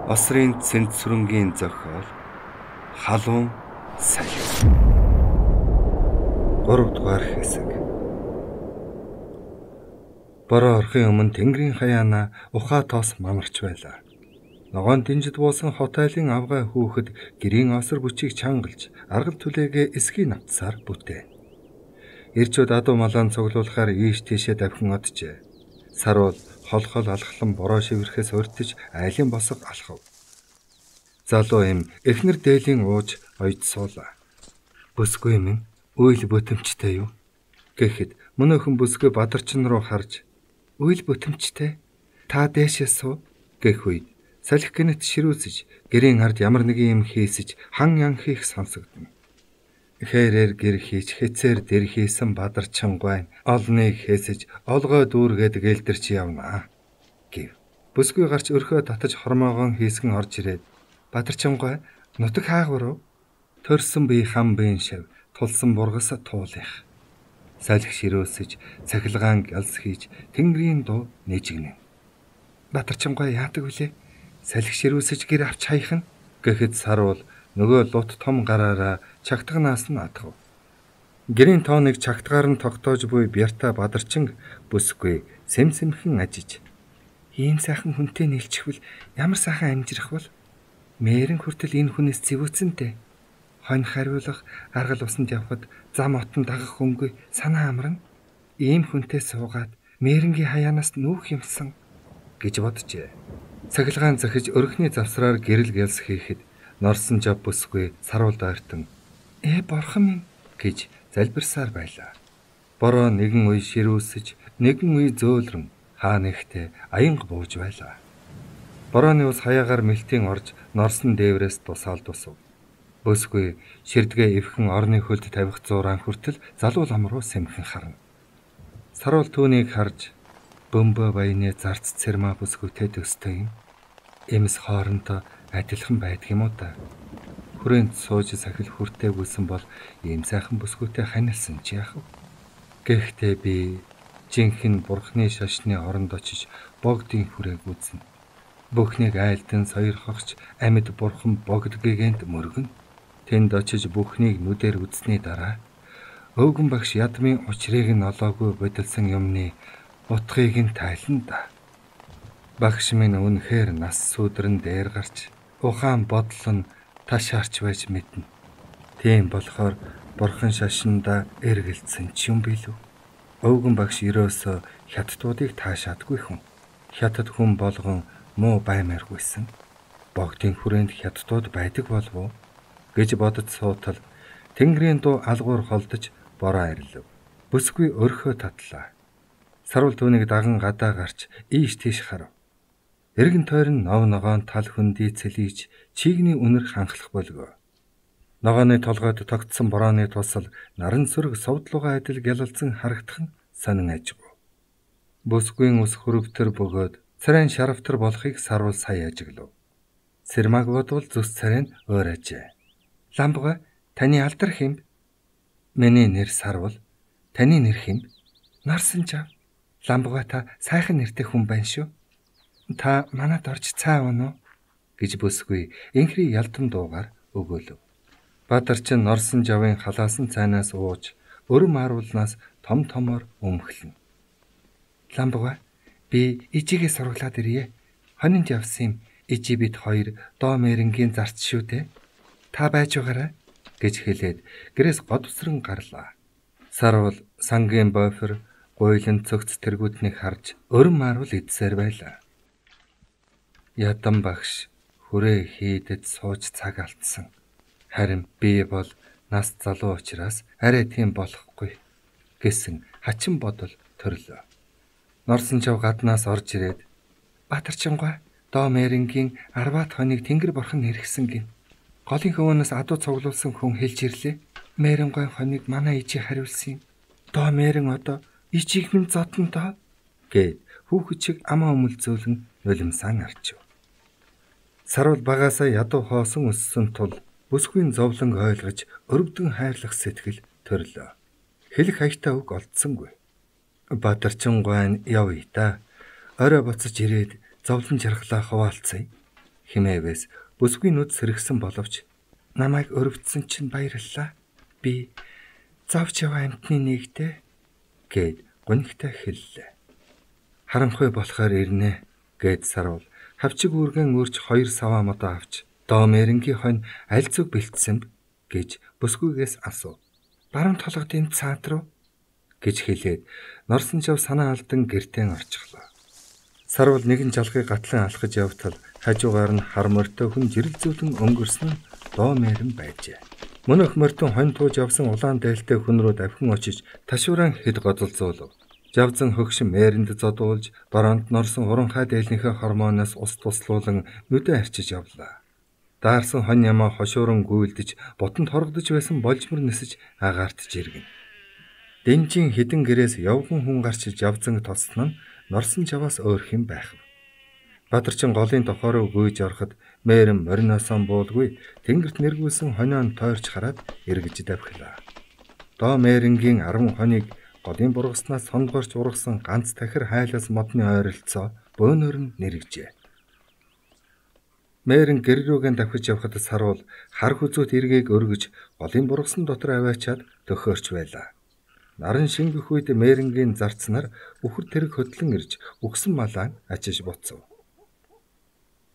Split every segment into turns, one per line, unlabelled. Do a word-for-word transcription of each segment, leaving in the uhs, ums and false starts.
Осрын цэнцүрэнгийн зохиол халуун салхи. гурав дугаар хэсэг. Бороо орохын өмнө тэнгэрийн хаяана ухаа тоос мамарч байлаа. Ногоон дэнжид буусан хот айлын авгай хүүхэд гэрийн осор бүчийг чангалж аргал түлээгээ эсгийн навтсаар бүтээ. Ирчүүд адуу малаан цуглуулахаар ийш тийшээ давхин оджээ. Сарвал холхол алхлан бороо шивэрхээс урьдж айлын босго алхав. Залуу им эхнэр дээлийн ууж ойд суулаа. Бүсгүй минь үйл бүтэмжтэй юу гэхэд мөнөөхөн бүсгүй бадарчин руу харж үйл бүтэмжтэй та дээшээ суу гэх үед салхи гэнэт ширүүсэж гэрийн ард ямар нэгэн юм хийсэж хан ян хийх сонсогдно. Хэрээр гэр хийж хэцээр дэр хийсэн бадарчин гуайн олныг хэсэж олгой дүүргээд гэлдэрч явнаа гэв. Бүсгүй гарч өрхөө татаж хормоогоон хийсгэн орж ирээд бадарчин гуай нутаг хаагвар төрсөн бие хам бийн шав тулсан бургас туулах. Салхи ширөөсөж цахилгаан галс хийж тэнгэрийн дуу нэжигнэ. Бадарчин гуай яадаг вүлээ? Салхи ширөөсөж гэр авч хаях нь гэхэд сарвал нөгөө лут том гараараа чагтганаас нь атгав. Гэрийн тооныг чагтгаар нь тогтоож буй бярта бадарчин бүсгүй сэмсэмхэн ажиж ийм сайхан хүнтэй нийлчихвэл ямар сайхан амжирах бол мээрэн хүртэл энэ хүнээс зэвүүцэнтэй хонь хариулах аргал усанд явхад зам отон дагах хөнгөө санаа амарна. Ийм хүнтэй суугаад мээрэнгийн хаяанаас нүүх юмсан гэж боджээ. Цахилгаан захиж өрхний завсраар гэрэл гэлс хийхэд норсон жав бүсгүй сарвал дойртон ээ борхон минь гэж залбирсаар байлаа. Бороо нэгэн үе ширүүсэж нэгэн үе зөөлрөн хаа нэгтээ аянга бууж байлаа. Борооны ус хаягаар мэлтийн орж норсон дээврээс тусаал тусав. Бүсгүй ширдгээ эвхэн орны хөлд тавих зуурaan хүртэл залуу лам руу сэмхэн харна. Сарвал түүнийг харж бөмбө баяны зарц цэрмаа бүсгүйтэй төстэй юм. Эмс хоорондоо адилхан байдаг юм уу та? Хүрээнд сууж сахил хүртэй гүйсэн бол ийм сайхан бүсгүйтэй ханилсан ч яах вэ? Гэхдээ би жинхэнэ бурхны шашны оронд очиж богдын хүрээг үзнэ. Бүхнийг айлдан сойрхогч амьд бурхан богдгийгэнд мөргөн. Тэнд очиж бүхнийг нүдээр үзнээ дараа өвгөн багш ядмын учрыг нь олоогүй бодилсан юмны утгыг нь тайлна да. Багш минь үнэхээр нас сүдрэн дээр гарч ухаан бодол нь таш харч байж мэднэ. Тийм болохоор бурхан шашинда эргэлцсэн ч юм билүү. Өвгөн багш ерөөсөө хятадуудыг таашаадгүй хүн. Хятад хүн болгон муу баймааргүйсэн. Богдын хүрээнд хятадууд байдаг болов уу гэж бодож суутал тэнгэрийн дуу алгуур холдож бороо арилв. Бүсгүй өрхөө татлаа. Сарвал түүнийг даган гадаа гарч ийш тийш харав. Эргэн тойрон нов ногоон тал хөндөй цэлийж чигний үнэр ханхлах болгоо. Ногооны толгойд тогтсон борооны тусал наран сүрэг совдлууга адил гялалзан харагдах нь сонин ажгүй. Бүсгүйн ус хөрөвтөр бөгөөд царайн шаравтар болохыг сарвал сая ажиглав. Цэрмаг бодвол зүс царайн өөр ажээ. Ламбга таны алдар хэмб? Миний нэр Сарвал. Таны нэр хэмб? Нарсан жав. Ламбга та сайхан нэртэй хүн байна шүү. Та манад орж цаа унаа гэж бүсгүй инхри ялдан дуугаар өгөөлөв. Бадарчин норсон жавын халаасан цайнаас ууж өрөм харуулнаас том томор өмхлөн. Ламбга би ижигээ сургалаад ирье. Хонинд явсан юм ижи бит хоёр доо мэрэнгийн зарц шүү дээ. Та байж байгаарай гэж хэлээд гэрээс годвсран гарлаа. Сарвал сангийн бойфер гуйлан цогц тэргүүднийг харж өрөм харуул идсээр байлаа. Ядан багш хүрээ хийдэд сууж цаг алдсан. Харин би бол нас залуу учраас арай тийм болохгүй гэсэн хачин бодол төрлөө. Норсон чав гаднаас орж ирээд Баатарчингой доо мэрэнгийн арваад хоног тэнгэр борхон хэрэгсэн гин. Голын хөвөнөөс адуу цуглуулсан хүн хэлж ирлээ. Мэрэнгүй хоног манай ижи хариулсан юм. Доо мэрэн одоо ижиг минь зодон доо гэд хүүхэд чиг амаа өмөлзөөлөн нулимсан арчив. Сарвал багаасаа ядуу хоосон өссөн тул бүсгүй зовлон ойлгож өрөвдөн хайрлах сэтгэл төрлөө. Хэлэх хаягтай үг олдсонгүй. Баатарчин гуайн явъя та. Орой буцаж ирээд зовлон жаргалаа хуваалцъя. хэмээвээс бүсгүй нүд сэргсэн боловч намайг өрөвдсөн чинь баярлалаа. Би завч яваа амтны нэгтэй гэд гонигтай хэллээ. Харанхуй болохоор ирнэ гэд Сарвал хавчиг үргэн өрч хоёр саваа модоо авч доо Мэрингийн хонь аль зүг бэлтсэн гэж бүсгүйгээс асуув. Баруун толгодын цаат руу гэж хэлээд Норсон жав санаа алдан гэртээ орчихлоо. Сарвал нэгэн жалгыг гатлан алхаж явтал хажуугаар нь хар морьтой хүн жирэл зүүлэн өнгөрсөн нь доо Мэрин байжээ. Мөнх морьтон хонь тууж явсан улаан дээлтэй хүн рүү давхин очиж ташууран хэд годолзуулв. Жавзан хөгшин Мэринд зодуулж бараанд норсон уранхай дээлнийхээ хормоноос ус туслуулан нүдэ арчиж явлаа. Даарсан хонь ямаа хошууран гүйлдэж ботонд хоргодож байсан болжмор нисэж агаарт жиргэн. Дэнжин хідэн гэрээс явган хүн гарч Жавзан тоснон Норсон жаваас өөр хэм байх. Бадарчин голын тохоороо гүйж ороход Мэрин мориносон буулгүй тэнгэрт нэргүүлсэн хонион тойрч хараад эргэж давхилаа. Доо Мэрингийн арван хоныг голын бургаснаас сондгорч ургасан ганц тахир хайлаас модны ойролцоо бөөнөр нь нэргэжээ. Мэрин гэр рүүгэн давхиж явхад Сарвал хар хүзүүт эргээг өргөж голын бургасан дотор аваачаад төхөөрч байлаа. Наран шингэх үед Мэрингийн зарцнаар үхэр тэрэг хөдлөн ирж үгсэн малаа ачиж буцав.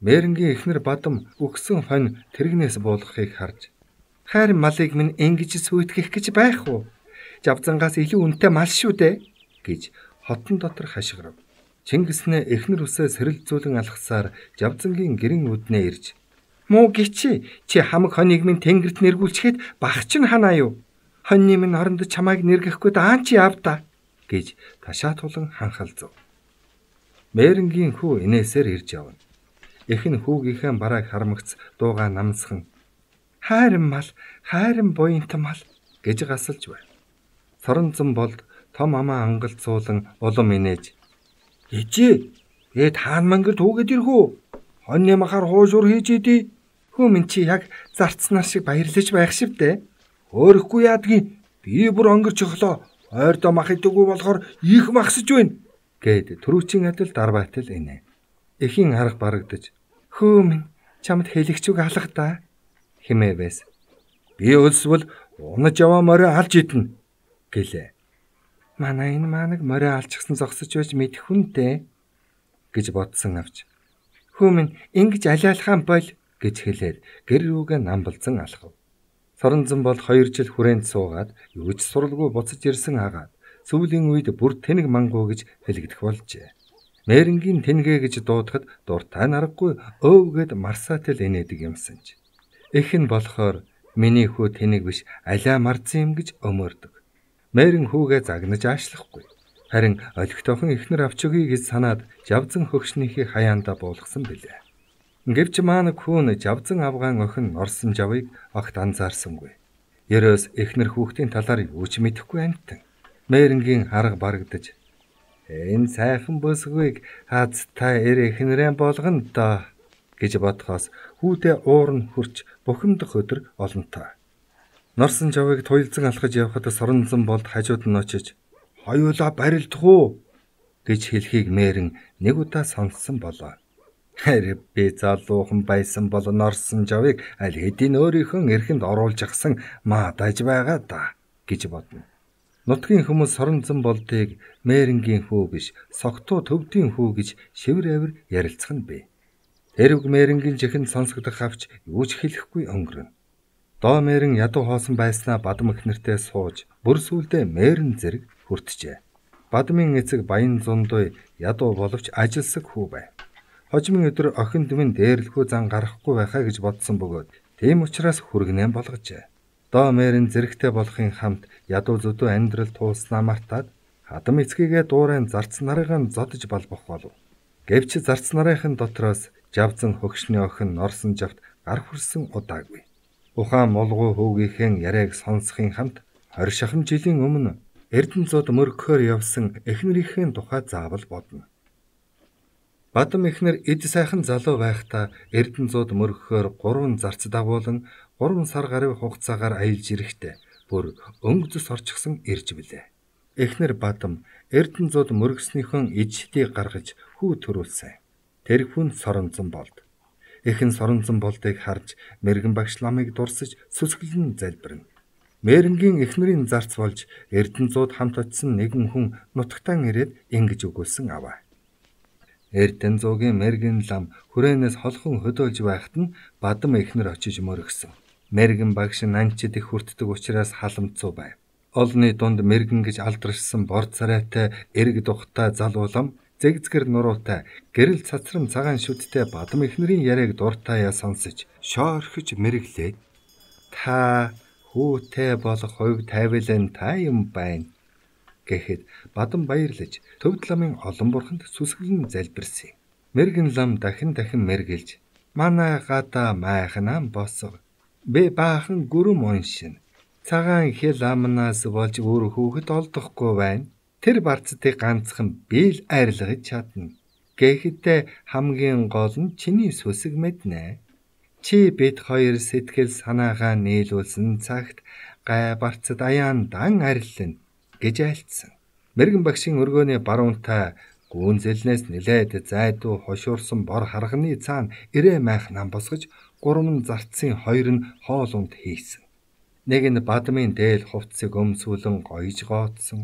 Мэрингийн эхнэр Бадам үгсэн хонь тэрэгнээс буулгахыг харж "Хайрын малыг минь ингэж сүйтгэх гэж байх уу? Жавзангаас илүү үнэтэй мал шүү дээ" гэж хотон дотор хашгирав. Чингиснээ эхнэр үсээ сэрэлзүүлэн алхасаар Жавзангийн гэрэн үднээ ирж "Муу гिचи чи хамаг хоныг минь тэнгэрт нэргүүлчихэд багч нь ханаа юу? Хоньны минь оронд чамайг нэргэхгүй даан чи явда" гэж ташаатуулан ханхалзав. Мэрингийн хүү инээсээр ирж явна. Эхэн хүүгийнхээ барааг хармагц дуугаа намсхан "Хайрын мал, хайрын буянт мал" гэж гасалж байна. Соронзон болд том амаа ангалцуулан улам инээж "Ээжээ, ээ таан мангар түүгээд ирхүү? Хоньны махаар хуушур хийж идий. Хүү минь чи яг зарцнаар шиг баярлаж байх шивдэ. Өөрөхгүй яадгийн би бүр өнгөрч өглөө. Ойрдоо мах идэггүй болохоор их махсаж байна" гэд түрүүчийн адил дарбайтал инэ. Эхийн арга барагдаж "Хөө минь чамд хэлэгч үг алга да" хэмээвээс "Би өлсвөл унаж яваа морой алж идэнэ" гэлээ. "Манай энэ маанаг морой алчихсан зогсож байж мэдэх хүнтэй" гэж бодсон авч "Хөө минь ингэж алиалхаан боль" гэж хэлээд гэр рүүгээ намбалзан алхав. Соронзон бол хоёр жил хүрээнд суугаад юу ч суралгүй буцаж ирсэн агаад сүүлийн үед бүр тэнэг мангуу гэж хэлэгдэх болжээ. Мэрингийн тэнгээ гэж дуудахад дуртай наргагүй өвгээд марсаатал инээдэг юмсанч. Эх нь болохоор миний хүү тэнэг биш алиа марзан юм гэж өмөрдөг. Мэрин хүүгээ загнаж аашлахгүй. Харин олигтойхон эхнэр авч өгье гэж санаад Жавзан хөгшнийхээ хаяанда буулгасан билээ. Гэвч маанаг хүүн Жавзан авгаан охин Норсон жавыг огт анзаарсангүй. Ерөөс эхнэр хүүхдийн талаар юу ч мэдэхгүй амтан. Мэрингийн арга барагдаж "Энэ сайхан бүсгүйг хазтай эр эхнэрэн болгоно доо" гэж бодхоос хүүдээ уур нь хурч бухимдах өдөр олонтой. Норсон жавыг туйлзан алхаж явхад Соронзон болд хажууд нь очиж "Хоёулаа барилдах уу" гэж хэлхийг Мэрин нэг удаа сонссон болоо. Харин би залуухан байсан бол Норсон жавыг аль хэдийн өөрийнхөө эрхэнд оруулж гасан маадаж байгаа да гэж бодно. Нутгийн хүмүүс Соронзон болдыг Мэрингийн хүү биш согтуу төвдийн хүү гэж шивэр авир ярилцах нь бий. Тэрв Мэрингийн чихэнд сонсогдох авч юу ч хэлэхгүй өнгөрнө. Доо Мэрин ядуу хоосон байснаа Бадам эхнэртэй сууж бүр сүлдээ Мэрин зэрэг хүртжээ. Бадамын эцэг Баян Зундуй ядуу боловч ажилсаг хүү байв. Хожимын өдөр охинд минь дээрлэхүү зан гарахгүй байхаа гэж бодсон бөгөөд тийм учраас хүргэнэн болгожээ. Доо Мэрин зэрэгтэй болохын хамт ядуу зүдүү амьдрал тууснаа мартаад хадам эцгийгээ дуурайн зарц нарыгаа зодож балбах болов. Гэвч зарц нарынхын дотроос Жавзан хөгшний охин Норсон жавт гар хүрсэн удаагүй. Ухаан молгуу хүүгийнхэн яриаг сонсохын хамт хорь шахам жилийн өмнө Эрдэнэцүүд мөргөхөөр явсан эхнэрийнхээ тухай заавал бодно. Бадам эхнэр эд сайхан залуу байхдаа Эрдэнэцүүд мөргөхөөр гурван зарц дагуулan гурван сар гаруй хугацаагаар аялж ирэхдээ бүр өнгө зүс орчихсон ирж билээ. Эхнэр Бадам Эрдэнэцүүд мөргснийхөө ижтийг гаргаж хүү төрүүлсэн. Тэр хүн Соронзон болд. Эхэн соронзон болдыг харж мэрэгэн багш ламыг дурсаж сүсгэлэн залбирна. Мэрэнгийн эхнэрийн зарц болж Эрдэнэзууд хамт очисон нэгэн хүн нутагтан ирээд ингэж өгүүлсэн аваа. Эрдэнэзуугийн мэрэгэн лам хүрээнээс холхон хөдөөлж байхад нь бадам эхнэр очиж мөргсөн. Мэрэгэн багш нанчид их хүртдэг учраас халамцуу байв. Олны дунд мэрэгэн гэж алдаршсан бор царайтай эрг духтай залуу лам зэгзгэр нуруутай гэрэл цацрам цагаан шүдтэй бадам эхнэрийн яриаг дуртаяа сонсож шоорхиж мэрэглээд та хүүтэй болох хувь тайвлын та юм байна гэхэд бадам баярлаж төвд ламын олон бурханд сүсгэлэн залбирсан. Мэрэгэн лам дахин дахин мэргэлж манай гадаа майхнан босго би баахан гүрэм уншин цагаан хэл амнаас болж өөр хүүхэд олдохгүй байна. Тэр барцдыг ганцхан би л арилгаж чадна. Гэхдээ хамгийн гол нь чиний сүсэг мэднэ. Чи бид хоёр сэтгэл санаагаа нийлүүлсэн цагт гай барцад аяандан ариллана гэж айлтсан. Мэрэгэн багшийн өргөөний баруунтай гүнзэлнээс нилээд зайдуу хошуурсан бор харганы цаана ирээ майх нам босгож гурван зарцын хоёр нь хоолунд хийсэн. Нэг нь бадмын дээл хувцсыг өмсүүлэн гоёж гоодсон.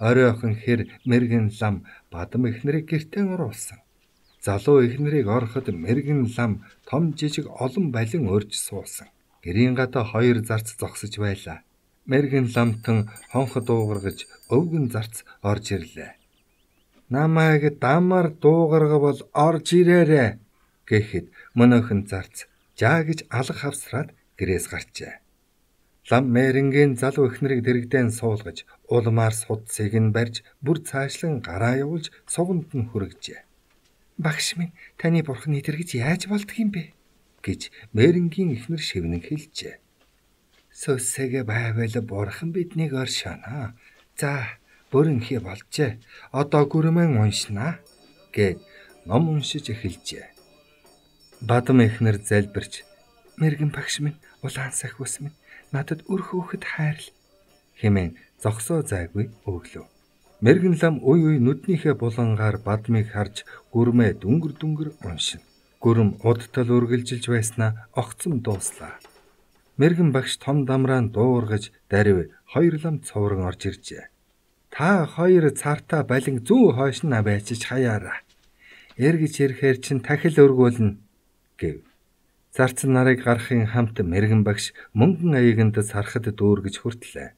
Оройхон хэр мэрэгэн лам бадам эхнэрийг гэртээ оруулсан. Залуу эхнэрийг ороход мэрэгэн лам том жижиг олон балин өрж суусан. Гэрийн гадаа хоёр зарц зогсож байлаа. Мэрэгэн ламтан хонхо дуугаргаж өвгөн зарц орж ирлээ. Намайг дамар дуугаргавал орж ирээрэ гэхэд мөнөөхөн зарц жаа гэж алга хавсраад гэрээс гарчээ. Лам мэрэнгийн залуу эхнэрийг дэрэгдэн суулгаж улмаар судсыг нь барьж бүр цаашлан гараа явуулж суванд нь хүргэжээ. Багш минь таны бурхны дэргэж яаж болдгийм бэ гэж мэрэнгийн эхнэр шивнэн хэлжээ. Сөсэгэ байвал бурхан биднийг оршоно. За бүрэнхий болжээ. Одоо гүрмэн уншнаа гэд ном уншиж эхэлжээ. Бадам эхнэр залбирч мэрэгэн багш минь улаан сахиус минь надад үр хөөхд хайрл хэмээн зогсоо зайгүй өглөө. Мэрэгэн лам уй уй нүднийхээ булангаар бадмыг харж гүрмээ дүнгэр дүнгэр уншина. Гүрэм удтал үргэлжилж байснаа огцом дууслаа. Мэрэгэн багш том дамраан дуургаж дарив хоёр лам цоврон орж иржээ. Та хоёр цартаа балин зүү хойшнаа байчиж хаяараа. Эргэж ирэхээр чин тахил өргүүлнэ гэв. Зарц нарыг гарахын хамт мэрэгэн багш мөнгөн аягэнд сархад дүүргэж хүртлээ.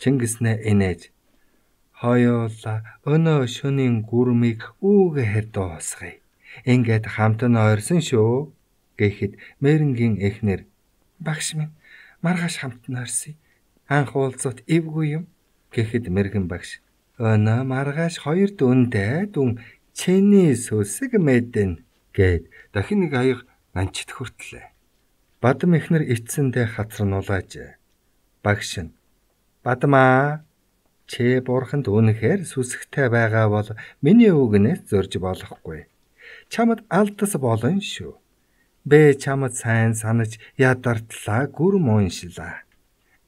Чингиснээ инээж хоёулаа өнөө шөнийн гүрмийг үүгээр дуусгая. Ингээд хамт нь ойрсон шүү гэхэд мэрэнгийн эхнэр багш минь маргааш хамт нь ойрсоё. Анх уулзалт эвгүй юм гэхэд мэрэгэн багш өнөө маргааш хоёр дүндээ дүн чиний сүсэг мэднэ гэд дахин нэг аяга нанчид хүртлээ. Бадам эхнэр эцсэндээ хацарнуулаажээ. Багш нь Бадамаа чи бурханд үнэхээр сүсэгтэй байгаа бол миний үгнээс зорж болохгүй. Чамд алдас болно шүү. Бэ чамд сайн санаж ядартлаа гүрм уншлаа.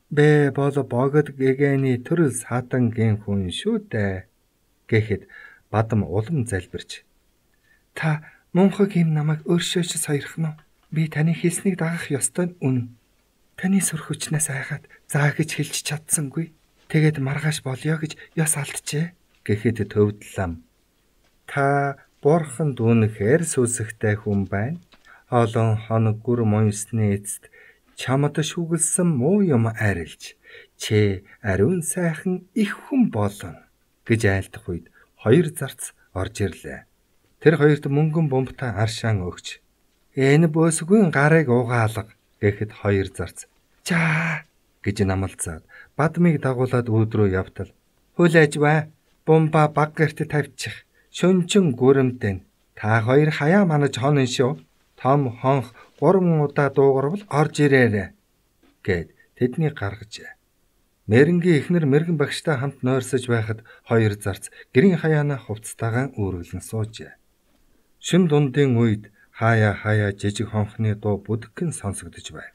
Бэ бол богод гэгэний төрөл сатангийн хүн шүү дээ гэхэд бадам улам залбирч та мунхаг юм намайг өөршөөж сойрох нь. Би таны хэлснийг дагах ёстой нь үнэн. Таны сүр хүчнээс айгаад заа гэж хэлж чадсангүй. Тэгээд маргааш болёо гэж ёс алджээ гэхэд төвд лам та бурханд үнэхээр сүсэгтэй хүн байна. Олон хоног гүрм унсны эцэст чамд шүглсэн муу юм арилж чи ариун сайхан их хүн болно гэж айлдах үед хоёр зарц орж ирлээ. Тэр хоёрт мөнгөн бомбтай аршаан өгч энэ бөөсгүй гарыг угаалга гэхэд хоёр зарц жаа гэж намалцаад бадмыг дагуулад өөдрөө явтал хүлээж бай бомба баг гэрт тавьчих шөнчин гүрэмтэн та хоёр хаяа манаж хонон шүү том хонх гурван удаа дуугарвал орж ирээрэ гэд тэднийг гаргажээ. Мэрэнгийн эхнэр мэрэгэн багштай хамт нойрсож байхад хоёр зарц гэрийн хаяана хувцастайгаан үүрэглэн суужээ. Шин дундын үед хаяа хаяа жижиг хонхны дуу бүдгэн сонсогдож байв.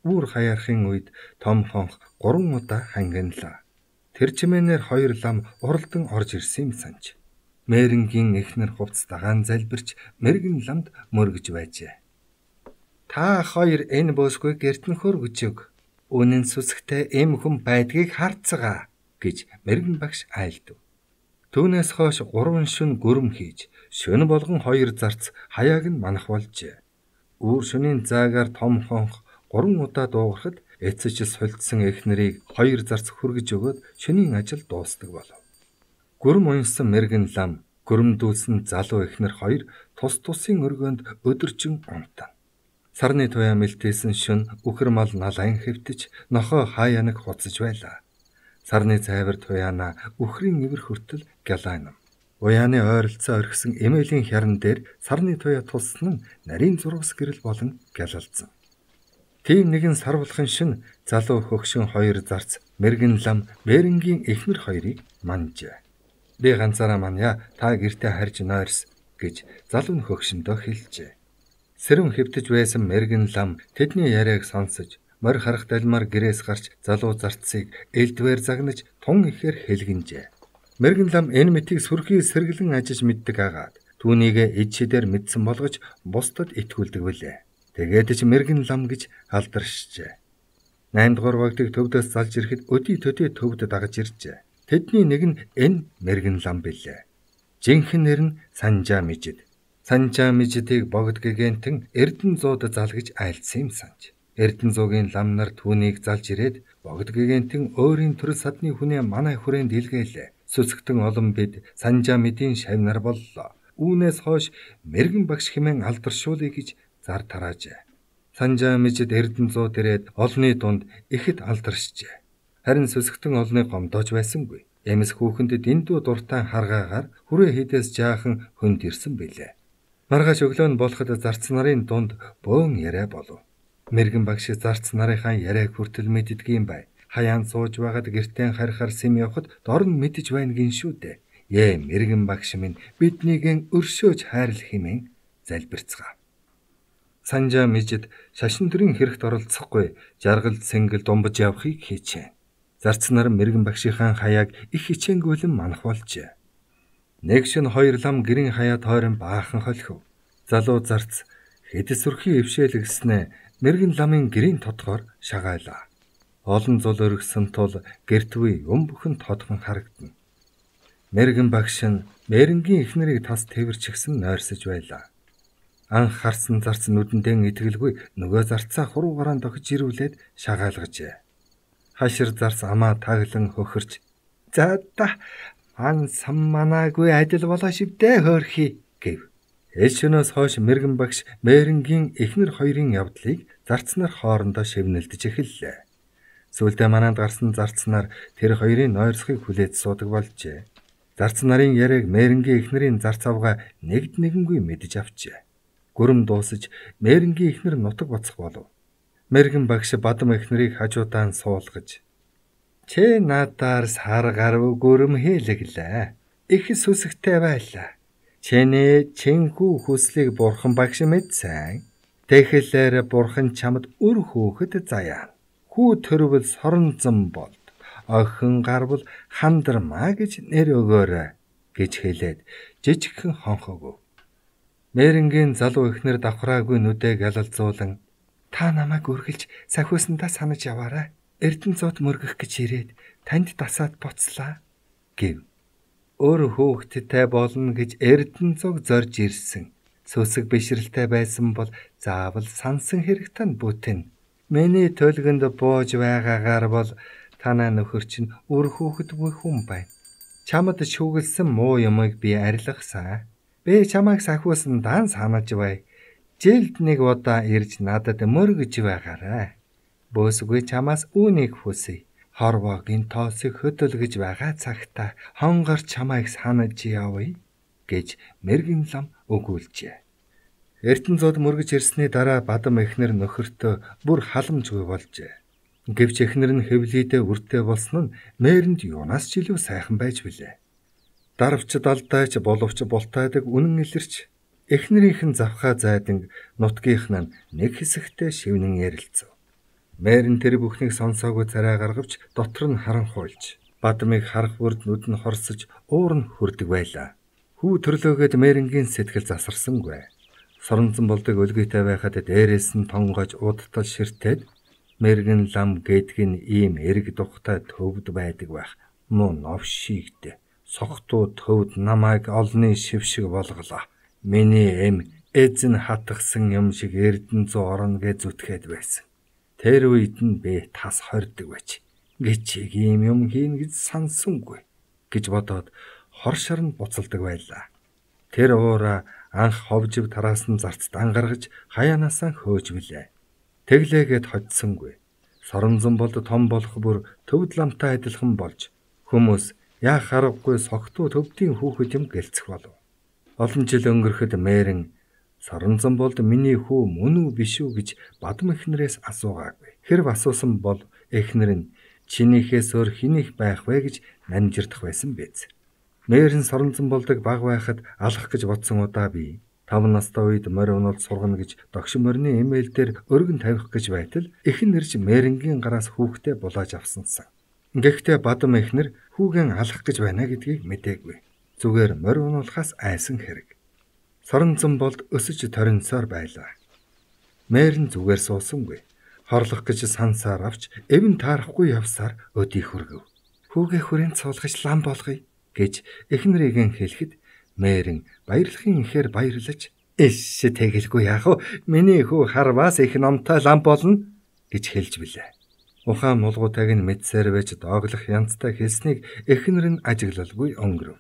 Үүр хаяархын үед том хонх гурван удаа хангинлаа. Тэр чимээнээр хоёр лам уралдан орж ирсэн юм санж. Мэрэнгийн эхнэр хувцастайгаан залбирч мэрэгэн ламд мөргөж байжээ. Та хоёр энэ бөөсгүй гэртэн хөргөж өг. Үнэн сүсгтэй эм хүн байдгийг харцгаа гэж мэргэн багш айлдав. Түүнээс хойш гурван шөнө гүрэм хийж, шөнө болгон хоёр зарц хаяаг нь манах болжээ. Үүр шөнийн заагаар том хонх гурван удаа дуугарахад эцэж сулдсан эхнэрийг хоёр зарц хөргөж өгөөд шөнийн ажил дуустдаг болов. Гүрэм унсан мэргэн лам, гүрэмдүүлсэн залуу эхнэр хоёр тус тусын өргөөнд өдөржин унтана. Сарны туяа мэлтээсэн шөнө үхэр мал налайн хэвтэж, нохоо хаяанаг хуцаж байлаа. Сарны цайвар туяана үхрийн ивэр хүртэл гялайнам. Уяаны ойролцоо орхисон эмээлийн хяран дээр сарны туяа тулсан нь нарийн зурвас гэрэл болон гялалцсан. Тийм нэгэн сар булхан шин залуу хөгшин хоёр зарц мэргэн лам Мэрэнгийн эхнэр хоёрыг манжээ. Би ганцаараа манья, та гэртээ харж нойрс гэж залуу нь хөгшөндөө хэлжээ. Сэрүүн хэвтэж байсан мэргэн лам тэдний яриаг сонсож, морь харах далмаар гэрээс гарч залуу зарцыг элдвээр загнаж тун ихээр хэлгэнжээ. Мэргэн лам энэ мэтийг сүрхий сэргэлэн ажиж мэддэг агаад түүнийг эд шидээр мэдсэн болгож бусдад итгүүлдэг билээ. Тэгээд ч мэргэн лам гэж алдаршжээ. Найм дугаар вагтыг төвдөөс залж ирэхэд өдий төдий төвд дагаж иржээ. Тэдний нэг нь энэ мэргэн лам билээ. Жинхэнэ нэр нь Санжаа Мижид. Санжаа Мижидийг богд гэгэнтэн Эрдэнэ зууд залгиж айлдсан юм санж. Эрдэнэ зуугийн лам нар түүнийг залж ирээд богд гэгэнтэн өөрийн төрөл садны хүнээ манай хүрээнд илгээлээ. Сүсгтэн олон бид Санжаа Мидийн шавнар боллоо. Үүнээс хойш мэргэн багш хэмээн алдаршуулъя гэж зар тараажээ. Санжаа Мижид Эрдэнэ зууд ирээд олны дунд ихэд алдаршжээ. Харин сүсгтэн олны гомдоож байсангүй. Эмс хүүхэнд дэндүү дуртай харгаагаар хүрээ хідээс жаахан хөнд ирсэн билээ. Маргааш өглөө нь болоход зарц нарын дунд бөөн яриа болов. Мэргэн багш зарц нарынхаа яриаг хүртэл мэддгийм бай. Хаяан сууж байгаад гэртээ харихаар сэм явахад дор нь мэдэж байна гин шүү дээ. Ээ мэргэн багш минь биднийгэн өршөөж хайрлах хэмээн залбирцгаа. Санжаа Мижид шашин төрийн хэрэгт оролцохгүй жаргал сэнгэл думбаж явахыг хийчээ. Зарц нар мэргэн багшийнхаа хаяаг их хичээнгүйлэн манах болжээ. Нэг шин хоёр лам гэрийн хаяа тойрон баахан холхив. Залуу зарц хэд сүрхий өвшөөлгснээ мэргэн ламын гэрийн тодгоор шагайлаа. Олон зул өргсөн тул гэртвээ юм бүхэн тодхон харагдана. Мэргэн багш нь Мэрэнгийн эхнэрийг тас тэрчгсэн нойрсож байлаа. Анх харсан зарц нүдэндээ итгэлгүй нөгөө зарцаа хуруугараа дохиж ирүүлээд шагаалгажээ. Хашир зарц амаа таглан хөхөрч "За та ан сам манаагүй адил болоо шивдэ хөөрхий" гэв. Эл шөнөөс хойш мэргэн багш Мэрэнгийн эхнэр хоёрын явдлыг зарц нар хоорондоо шивнэлдэж эхэллээ. Сүүлдээ мананд гарсан зарц нар тэр хоёрын нойрсхийг хүлээж суудаг болжээ. Зарц нарын яриаг Мэрэнгийн эхнэрийн зарц авгаа нэгд нэгэнгүй мэдж авчээ. Гүрэм дуусаж Мэрэнгийн эхнэр нутаг боцох болов. Мэргэн багш бадам эхнэрийг хажуудаан суулгаж "Чи надаар сар гарав гүрэм хийлэглээ. Их сүсгтэй байлаа. Чиний чинхүү хүслийг бурхан багш мэдсэн. Тэгэхээр бурхан чамд үр хөөхд заяа. Хүү төрвөл соронзон болд. Охин гарвал хандармаа гэж нэр өгөөрэй" гэж хэлээд жижигхэн хонхог. Мэрэнгийн залуу эхнэр давхраагүй нүдээ гялалзуулан "Та намайг үргэлж сахиусандаа санаж яваарай. Эрдэнэ зууд мөргөх гэж ирээд танд дасаад буцлаа" гэв. Өөр хүүхэдтэй болно гэж Эрдэнэ зуг зорж ирсэн. Сүсэг бишрэлтэй байсан бол заавал сансан хэрэгтэн бүтэн. Миний төлгөнд бууж байгаагаар бол танаа нөхөр чинь үр хүүхэдгүй хүн байна. Чамд шүүгэлсэн муу юмыг би арилгасан. Би чамайг сахиусандаа санаж бай. Жилд нэг удаа ирж надад мөргөж байгаарай. Бөөсгүй чамаас үүнийг хүсье. Хорвоогийн тоосыг хөдөлгөж байгаа цагта хонгор чамайг санаж явъя гэж мэргэн лам өгүүлжээ. Эрдэнэ зууд мөргөж ирсний дараа бадам эхнэр нөхөртөө бүр халамжгүй болжээ. Гэвч эхнэр нь хэвлийдээ үртэй болсон нь Мэрэнд юунаас ч илүү сайхан байж билээ. Дарвч далдайч боловч бултайдаг үнэн илэрч эхнэрийнхэн завхаа зайдан нутгийнх нь нэг хэсэгтээ шивнэн ярилцав. Мэрэн тэр бүхнийг сонсоогүй царай гаргавч дотор нь харанхуйлж бадмыг харах бүрд нүд нь хорсож уур нь хүрдэг байлаа. Хүү төрлөөгөөд Мэрэнгийн сэтгэл засарсангүй. Соронзон болдог өлгийтэй байхад дээрээс нь тонгож удтал ширтээд мэргэн лам гэдг нь ийм эрг тухтай төвд байдаг байх. Муу новшигд согтуу төвд намайг олны шившиг болголоо. Миний эм эзэн хатгсан юм шиг эрдэн зу орно гэж зүтгээд байсан. Тэр үед нь би тас хордог байж. Гэчиг ийм юм хийн гэж сансангүй гэж бодоод хоршор нь буцалдаг байлаа. Тэр уура анх ховжив тараас нь зарцд ангаргаж хаяанасаа хөөжвөлээ. Тэглээгээд хоцсонгүй. Соронзон болд том болох бүр төвд ламтай адилхан болж хүмүүс яах аргагүй согтуу төвдийн хүүхэд юм гэлцэх болов. Олон жил өнгөрөхөд мэрэн Соронзон болд миний хүү мөн үү биш үү гэж бадам эхнэрээс асуугаагүй. Хэрв асуусан бол эхнэр нь чинийхээс өөр хинийх байх вэ гэж намжирдах байсан биз. Мэрэн Соронзон болдог баг байхад алах гэж бодсон удаа би тав настай үед морь унаад сургана гэж догшин морины имэйл дээр өргөн тавих гэж байтал эхэн нэрж мэрэнгийн гараас хүүхдээ булааж авсансан. Гэхдээ бадам эхнэр хүүгэн алах гэж байна гэдгийг мэдээгүй. Зүгээр морь унуулахаас айсан хэрэг. Соронзон болд өсөж торинсоор байлаа. Мэрэн зүгээр суусангүй. Хорлох гэж сансаар авч эвэн таарахгүй явсаар өдий хүргэв. Хүүгээ хүрээнд суулгаж лам болгоё гэж эхнэрийн хэлэхэд мэрэн баярлахын ихээр баярлаж эш тэгэлгүй яах вэ? Миний хүү харваас их номтой лам болно гэж хэлж билээ. Ухаан мулгуутайг нь мэдсээр байж дооглох янзтай хэлснийг эхнэр нь ажиглалгүй өнгөрөв.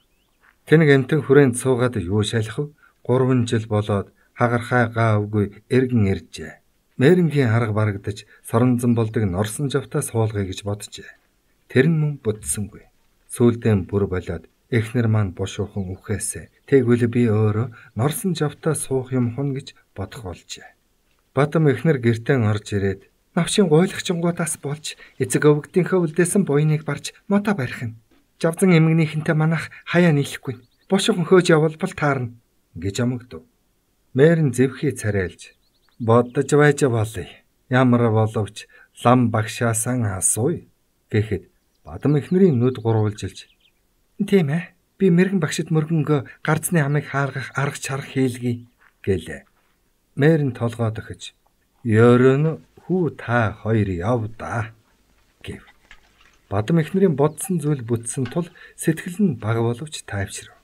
Тэнэг амтэн хүрээнд суугаад юу шалах вэ? Гурван жил болоод хагархай gaavгүй эргэн иржээ. Мэрэнгийн арга барагдаж Соронзон болдог норсон жавтаа суулгая гэж боджээ. Тэр нь мөн бүтсэнгүй. Сүүлдээ бүр болоод эхнэр маань бушуухан үхээсэ. Тэгвэл би өөрөө норсон жавтаа суух юм хон гэж бодох болжээ. Бадам эхнэр гертэн орж ирээд навшин гуйлагчингуудаас болж эцэг өвгдийнхөө үлдээсэн буйныг барж мотоо барих нь. Жавзан эмгэнийхэнтэй манах хаяа нийлэхгүй. Бушуухан хөөж явбал таарна гэж амагдав. Мэрэн зэвхий царайлж бодож байж болъё. Ямар боловч лам багшаасан асууя гэхэд бадам эхнэрийн нүд гурвалжилж тийм ээ би мэрэгэн багшид мөргөнгөө гарцны амыг хааргах арга чарга хийлгий гэлээ. Мэрэн толгой дохиж ёрон хүү та хоёр яв да гэв. Бадам эхнэрийн бодсон зүйл бүтсэн тул сэтгэл нь баг боловч тайвшрав.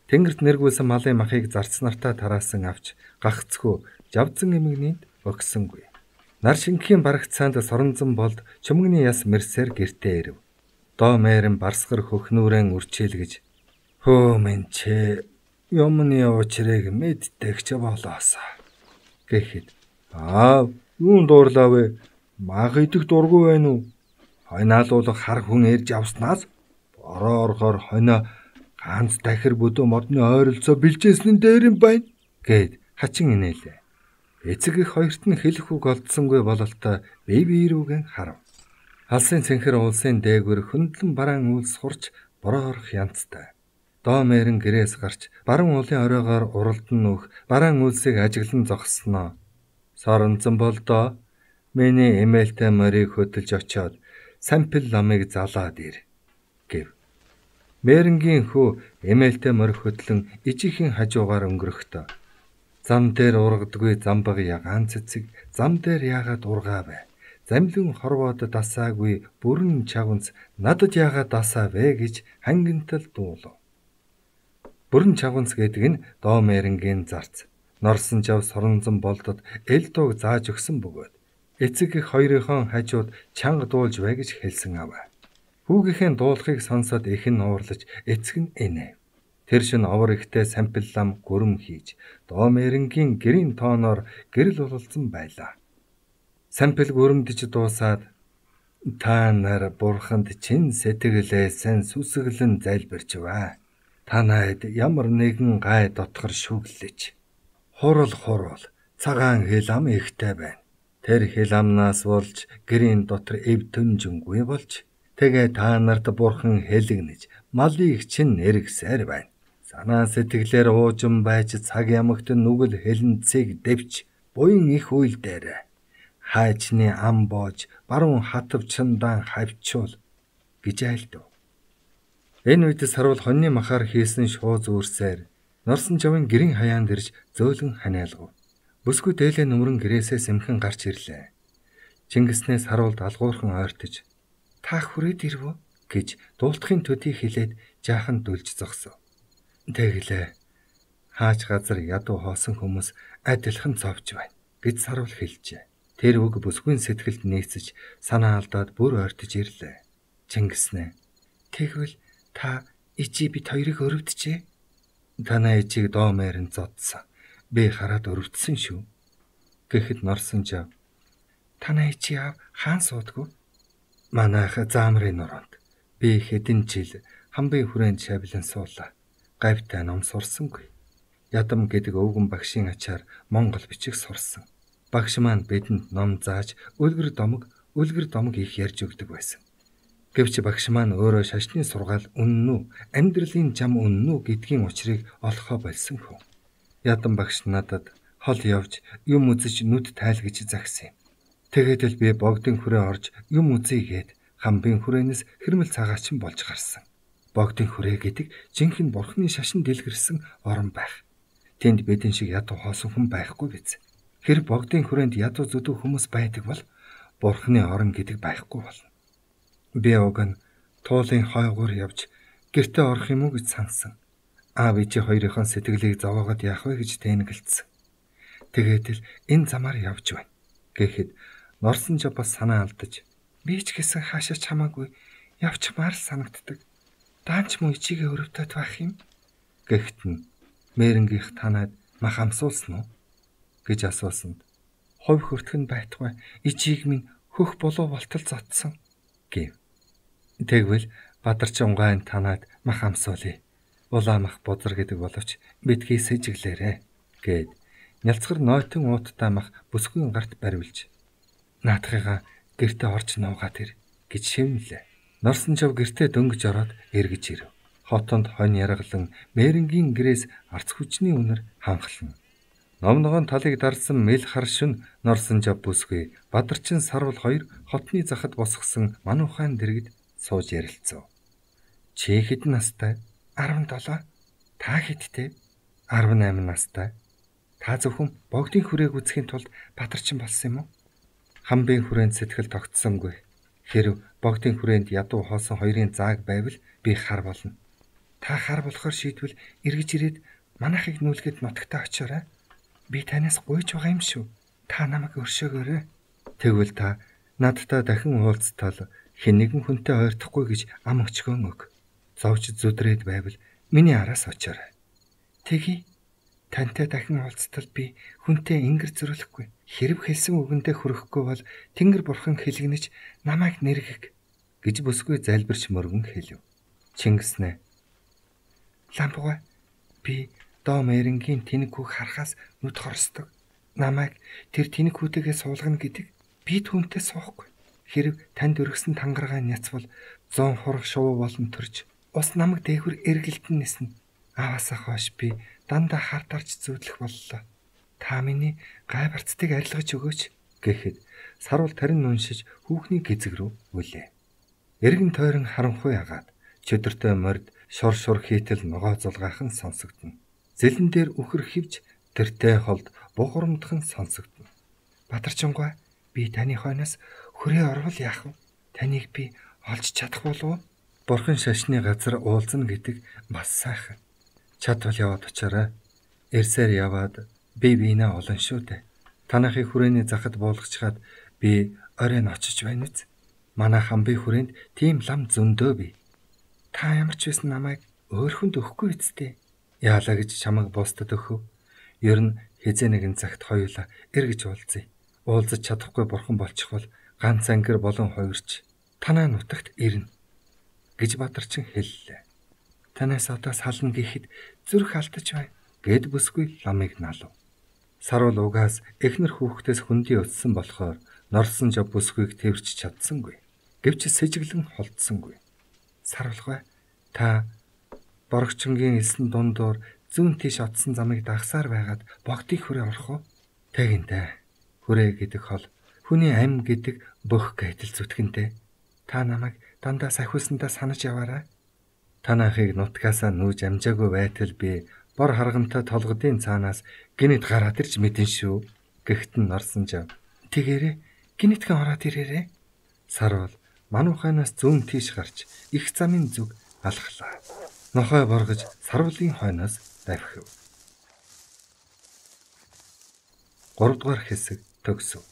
Тэнгэрт нэргүүлсэн малын махыг зарцнартаа тараасан авч гагцгүй жавзан эмгэнийд өгсөнгүй. Нар шингэхийн барагцаанд Соронзон болд чөмгөний яс мэрсээр гертээ ирэв. Доо мэрэн барсгар хөхнүүрэн үрчээлгэж хөө минь чи юмны учрыг мэддэгч болоосаа гэхэд аа юун дуурлаа вэ? Мах идэх дургүй байна уу? Хойнаалуулах хар хүн ирж авснаас бороо орохоор хойно ганц дахир бүдүү модны ойролцоо бэлжээсэн нь дээр юм байна гэд хачин инээлээ. Эцэг их хоёрт нь хэлэх үг олдсонгүй бололтой бие биерүүгэн харав. Алсын цэнхэр улсын дээгүр хөндлөн бараан үйлс хурч бороо орох янзтай. Доо мэрэн гэрээс гарч баруун уулын оройгоор уралдан нөх бараан үйлсийг ажиглан зогссноо. Соронзон болдоо миний эмээлтэй морийг хөдөлж очоод сампил ламыг залаад ир гэв. Мэрэнгийн хүү эмээлтэй морь хөдлөн ижихийн хажуугаар өнгөрөхдөө зам дээр ургадгүй замбаг ягаан цэцэг зам дээр яагаад ургаа вэ? Замлин хорвоод дасаагүй бүрэн чавнц надад яагаад дасаа вэ гэж хангинтал дуулав. Бүрэн чавнц гэдэг нь доо мэрэнгийн зарц. Норсон жав Соронзон болдод эл дууг зааж өгсөн бөгөөд эцэг их хоёрынхон хажууд чанга дуулж бай гэж хэлсэн аваа. Хүүгийнхээ дуулахыг сонсоод эхэн уурлаж эцэг нь инээ. Тэр шин овор ихтэй сампил лам гүрэм хийж доо мэрэнгийн гэрийн тооноор гэрэл бололцсон байлаа. Сампил гүрэмдэж дуусаад та нар бурханд чин сэтгэлээсэн сүсгэлэн залбирч бай. Танайд ямар нэгэн гай дотгор шүглэж. Хурал хурал цагаан хилам ихтэй байна. Тэр хиламнаас болж гэрийн дотор эв төнжингүй болж тэгээ та нарт бурхан хэлэгнэж малыг чин нэргсээр байна. Санаа сэтгэлээр уужин байж цаг ямагт нүгэл хэлэнцгийг дэвч буян их үйл дээр хайчны ам боож баруун хатвчандан хавчуул гэж айлдав. Энэ үед сарвал хоньны махаар хийсэн шууз үүрсээр норсон жавын гэрийн хаяанд ирж зөөлөн ханиалгав. Бүсгүй дээлээ нүмрэн гэрээсээ сэмхэн гарч ирлээ. Чингиснээс харуулд алгуурхан ойртож "Та хүрээд ирвөө" гэж дуултахын төдий хэлээд жаахан дүлж зогсов. Тэглээ. Хаач газар ядуу хоосон хүмүүс адилхан зовж байна гэж сарвал хэлжээ. Тэр үг бүсгүйн сэтгэлд нийцэж санаа алдаад бүр ойртож ирлээ. Чингиснээ "Тэгвэл та ичи бит хоёрыг өрөвдөжээ?" "Танай ичиг доо мээрэн зодсон. Би хараад өрөвдсөн шүү." Гэхэд Норсонжав "Танай ичи аав хаан суудгүй?" "Манайх заамрын нуруунд. Би хэдэн жил хамбын хүрээнд шавилан суулаа. Гавьтай ном сурсангүй. Ядам гэдэг өвгөн багшийн ачаар Монгол бичих сурсан. Багш маань бидэнд ном зааж үлгэр домог, үлгэр домог их ярьж өгдөг байсан. Гэвч багш маань өөрөө шашны сургаал үнэн үү, амьдралын зам үнэн үү гэдгийн учрыг олохоо болсон хөө. Ядам багш надад хол явж юм үзэж нүд тайлгаж загсан юм. Тэгээд л би богдын хүрээ орж юм үзьгээд хамбын хүрээнээс хэрмэл цагаачин болж гарсан. Богдын хүрээ гэдэг жинхэнэ бурхны шашин дэлгэрсэн орон байх. Тэнд бидэн шиг ядуу хоосон хүн байхгүй биз. Хэрэг богдын хүрээнд ядуу зүдүү хүмүүс байдаг бол бурхны орон гэдэг байхгүй болно. Би уг нь туулын хойгуур явж гэртээ орох юм уу гэж сансан. Аав ээжи хоёрынхон сэтгэлийг зовоогод яах вэ гэж тэнэгэлцсэн. Тэгээд л энэ замаар явж байна. Гэхэд Норсонжав бас санаа алдаж "Би ч гэсэн хаашаач хамаагүй явчмаар санагддаг. Даанч муу ичигээ өрөвдөд байх юм." Гэхэд нь "Мэрэнгийнх танаад мах амсуулсан уу?" гэж асуусанд "Ховь хөртгөн байтугай ичиг минь хөх болоо болтол зодсон" гэв. Тэгвэл Бадарчин гайн танаад мах амсуулъя. Улаан мах бузар гэдэг боловч битгий сэжиглээрэ гэд нялцгар нойтон ууттай мах бүсгүйн гарт бариулж "Наадхыгаа гэртээ орж нуугаад ир" гэж шивнэлээ. Норсонжав гэртээ дөнгөж ороод эргэж ирэв. Хотонд хонь яргалан Мэрэнгийн гэрээс арц хүчний үнэр ханхлан. Номногоон талыг дарсан мэл хар шүн Норсонжав бүсгүй Бадарчин сарвал хоёр хотны захад босгосон мануухайн дэргэд сууж ярилцав. "Чи хэдэн настай?" "арван долоо." "Та хэдтэй?" "арван найман настай." "Та зөвхөн богдын хүрээг үзэхийн тулд Бадарчин болсон юм уу?" Хамбын хүрээнд сэтгэл тогтсонгүй. Хэрв богдын хүрээнд ядуу хоосон хоёрын зааг байвал би хар болно. "Та хар болохоор шийдвэл эргэж ирээд манайхыг нүүлгээд нутагтаа очиорой. Би танаас гуйж байгаа юм шүү. Та намайг өршөөгөөрэй. Тэгвэл та надтай дахин уулзтал хэн нэгэн хүнтэй ойртохгүй гэж ам өчгөн өг. Зовж зүдрээд байвал миний араас очиорой." "Тэгье. Тантай дахин уулзтал би хүнтэй ингэр зөрөлөхгүй. Хэрв хэлсэн үгэндээ хүрэхгүй бол Тэнгэр бурхан хэлгэнэж намайг нэргэх" гэж бүсгүй залбирч мөргөн хэлв. Чингиснээ "Ламбугай, би доо Мэрэнгийн тэнэг хүүг харахаас нүд хорсдог. Намайг тэр тэнэг хүүтэйгээ суулгана гэдэг. Би түүнтэй суухгүй. Хэрв танд өргөсөн тангараа няцвал зуун хурах шувуу болон төрж ус намайг дээгүр эргэлдэн нэснэ. Ааваасаа хойш би дандаа хардарч зүүдлэх боллоо. Та миний гай барцдыг арилгаж өгөөч" гэхэд сарвал тарин уншиж хүүхний гизэг рүү үлээ. Эргэн тойрон харанхуй агаад чөдөртэй морд шор шор хийтэл ногоо зулгаахан сонсогдно. Зэлэн дээр үхэр хивж тэртэй холд бухарамдхан сонсогдно. "Бадарчингой, би таны хойноос хүрээ орвол яах вэ? Таныг би олж чадах болов уу?" Бурхан шашны газар уулзна гэдэг бас сайхан. "Чадвал яваад очоорой. Эрсээр яваад би биенээ олон шүү дээ. Танахыг хүрээний захад буулгачаад би оройн очиж байна үз. Манай хамбын хүрээнд тийм лам зөндөө бий. Та ямар ч байсан намайг өөрхөнд өгөхгүй үсттэй. Яалаа гэж чамайг бусдад өгөв. Ер нь хизээ нэгэн цагт хоёулаа эргэж уулзъя. Уулзаж чадахгүй бурхан болчихвол ганц ангир болон хоёрч танаа нутагт ирнэ" гэж Бадарчин хэллээ. "Танаас одоо сална гэхэд зүрх алдаж байна" гэд бүсгүй ламыг налав. Сарвал угаас эхнэр хүүхдээс хүндий өссөн болохоор Норсонжав бүсгүйг тэрч чадсангүй. Гэвч сэжиглэн холдсонгүй. "Сарвалгай, та Борогчингийн элсэн дундуур зүүн тийш отсон замыг дагсаар байгаад богдын хүрээ орох уу?" "Тэгинтэй. Хүрээ гэдэг хол хүний ам гэдэг бөх гэтэл зүтгэнтэй. Та намайг дандаа сахиулсандаа санаж яваарай. Танахыг нутгаасаа нүүж амжаагүй байтал би бор харгамтай толгодын цаанаас гинэд гараад ирж мэдэн шүү. Гэхдээ нарсан жав. Тэгээрээ гинэтхэн ороод ирээрээ. Сарвал мануухайнаас зүүн тийш гарч их замын зүг алхлаа. Нохой боргож сарвалын хойноос давхив. гурав дугаар хэсэг төгсөв.